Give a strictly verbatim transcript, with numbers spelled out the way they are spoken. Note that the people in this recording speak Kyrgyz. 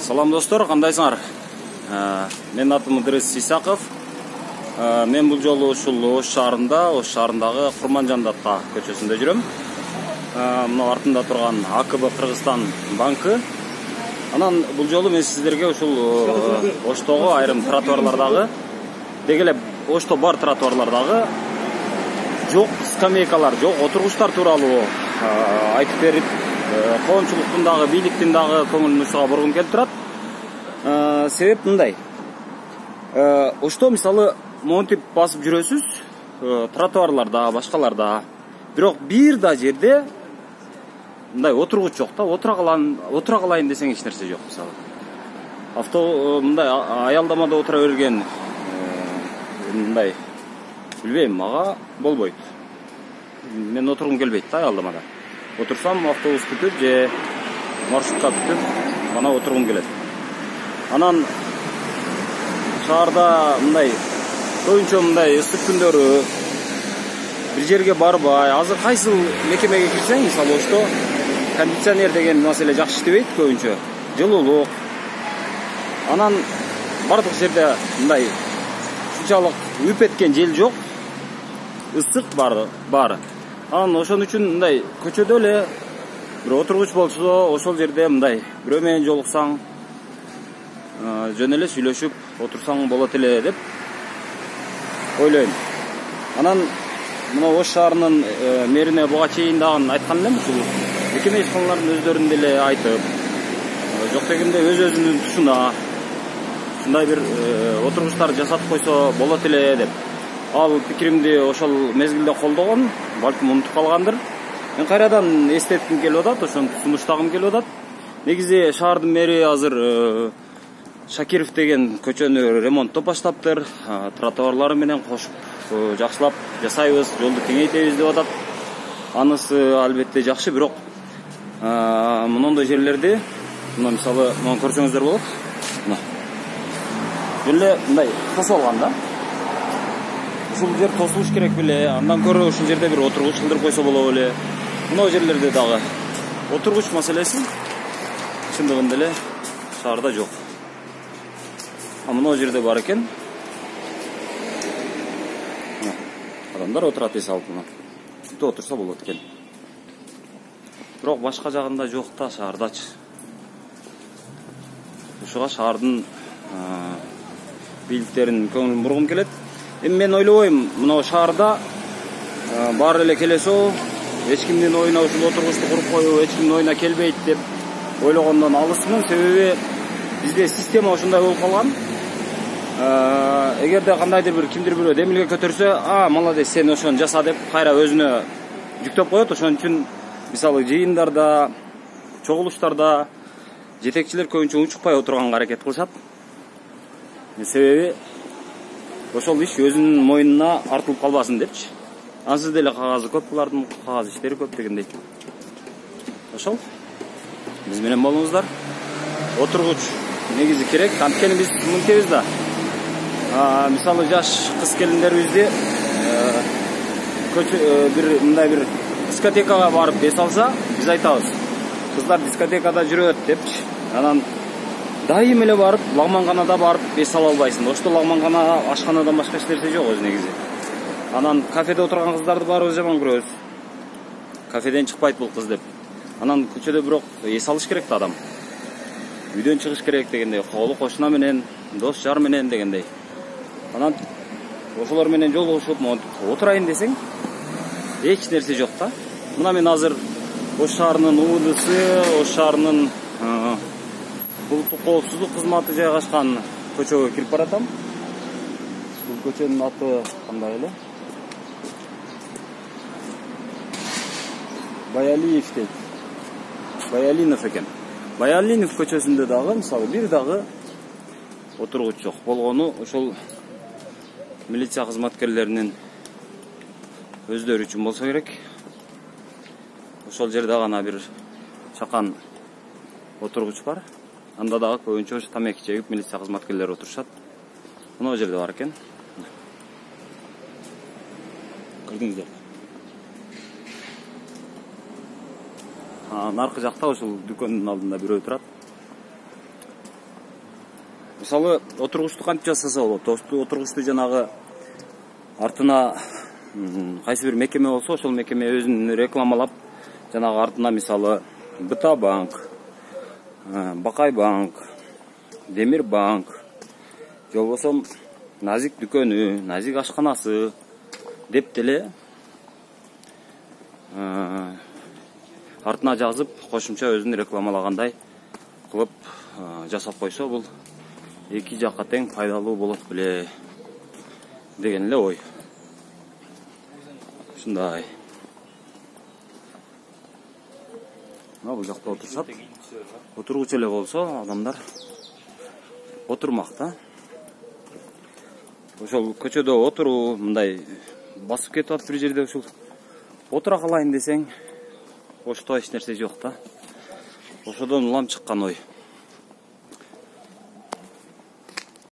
Салам достор, кандайсыңар? Менин атым Ыдырыс Исаков. Мен бул жолу ушул Ош шаарында, Ош шаарындагы Курманжан Датка көчөсүндө жүрөм. Мына артында турган А К Б Кыргызстан банкы. Анан бул жолу мен сиздерге ушул Оштогу айрым тротуарлардагы, деги эле Ошто бар тротуарлардагы жок скамейкалар, жок отургучтар тууралуу айтып берип, коомчулуктун дагы, бийликтин дагы көңүлүн ушуга бургум келип турат. Себеп мындай. Ошто мисалы монтип басып жүрөсүз, тротуарларда, башкаларда. Бирок бир да жерде мындай отургуч жок да, отура калайын, отура калайын десең эч нерсе жок мисалы. Авто мындай аялдамада отура берген мындай билбейм, мага болбойт. Мен отургум келбейт да аялдамада. Отурсам автобус күтүп же маршрутка күтүп гана отургум келет. Анан шаарда мындай көбүнчө мындай ысык күндөрү бир жерге барбай, азыр кайсыл мекемеге кирсең, мисалы Ошто кондиционер деген маселе жакшы иштебейт көбүнчө. Жылуулук. Анан бардык жерде мындай ушунчалык үйүп эткен жел жок. Ысык бар, бар. Анан ошон үчүн мындай көчөдө эле бир отургуч болсо, ошол жерде мындай бирөө менен жолуксаң, жөн эле сүйлөшүп отурсаң болот эле деп ойлойм. Анан мына Ош шаарынын мэрине буга чейин дагы айткан элем, ушул мекеме ишканалардын өздөрүн деле айтып, жок дегенде өз өзүнүн тушуна ушундай бир отургучтар жасатып койсо болот эле деп. Ал пикиримди ошол мезгилде колдогон, балким унутуп калгандыр. Мен кайрадан эстетким келип атат, ошону сунуштагым келип атат. Негизи шаардын мэри азыр Шакиров деген көчөнү ремонттоп баштаптыр. Тротуарлары менен кошуп жакшылап жасайбыз, жолду кеңейтебиз деп атат. Анысы албетте жакшы, бирок мындай жерлерди, мына мисалы, мына көрсөңүздөр болот. Мына. Эле мындай тосуп алган да. Ушул жер тосулуш керек беле, андан көрө ушул жерде бир отургуч кылдырып койсо болобу эле. Мына жерлерде дагы отургуч маселеси чындыгында эле шаарда жок. А мына жерде бар экен. Адамдар отурат эс алып мына. Бүтө отурса болот экен. Бирок башка жагында жок да, шаардачы. Ушуга шаардын бийликтерин көңүлүн бургум келет. Эми мен ойлобойм, мына шаарда баары эле келесо, эч кимдин оюна ушул отургучту куруп коюу, эч кимдин оюна келбейт деп ойлогондон алысмын. Себеби бизде система ошондой болуп калган. Эгерде кандайдыр бир кимдир бирөө демилге көтөрсө, а, молодец, сен ошону жаса деп кайра өзүнө жүктөп коет. Ошон үчүн мисалы жыйындарда, чогулуштарда жетекчилер көбүнчө унчукпай отурганга аракет кылышат. Себеби ошол иш өзүнүн мойнуна артылып калбасын депчи. Ансыз деле кагазы көп, булардын кагаз иштери көп дегендей. Ошол биз менен болуңуздар. Отургуч негизи керек, анткени биз мынтебиз да. Мисалы жаш кыз келиндерибизди бир мындай бир дискотекага барып бес алса, биз айтабыз. Кыздар дискотекада жүрөт депчи. Анан дайым эле барып, лагманганада барып бес ала албайсың. Ошто лагмангана ашканадан башка эч нерсе жок өзү негизи. Анан кафеде отурган кыздарды баарыбыз жаман көрөбүз. Кафеден чыкпайт бул кыз деп. Анан көчөдө бирок эс алыш керек да адам. Үйдөн чыгыш керек дегендей, колу кошуна менен, дос жар менен дегендей. Анан ошолор менен жолугушуп, отурайын десең, эч нерсе жок да. Мына мен азыр Ош шаарынын У Д С, Ош шаарынын улуттук коопсуздук кызматы жайгашкан көчөгө кирип баратам. Бул көчөнүн аты кандай эле? Баялиев дейт. Баялинов экен. Баялинов көчөсүндө дагы мисалы бир дагы отургуч жок. Болгону ошол милиция кызматкерлеринин өздөрү үчүн болсо керек. Ошол жерде гана бир чакан отургуч бар. Анда дагы көбүнчө тамеки чегип милиция кызматкерлери отурушат. Мына жерде бар экен. Көрдүңүздөр. Наркы жакта ошол дүкөндүн алдында бирөө турат. Мисалы отургучту кантип жасаса болот? Отургучту жанагы артына кайсы бир мекеме болсо, ошол мекеме өзүн рекламалап, жанагы артына мисалы Быта банк, Бакай банк, Демир банк, же болбосо Назик дүкөнү, Назик ашканасы деп деле артына жазып, кошумча өзүн рекламалагандай кылып жасап койсо, бул эки жакка тең пайдалуу болот беле деген эле ой. Ушундай. Мына бул жакта отурушат. Отургуч эле болсо, адамдар отурмак да. Ошол көчөдө отуруу, мындай басып кетип атып бир жерде ушул отура калайын десең, ошто эч нерсе жок да. Ошодон улам чыккан ой.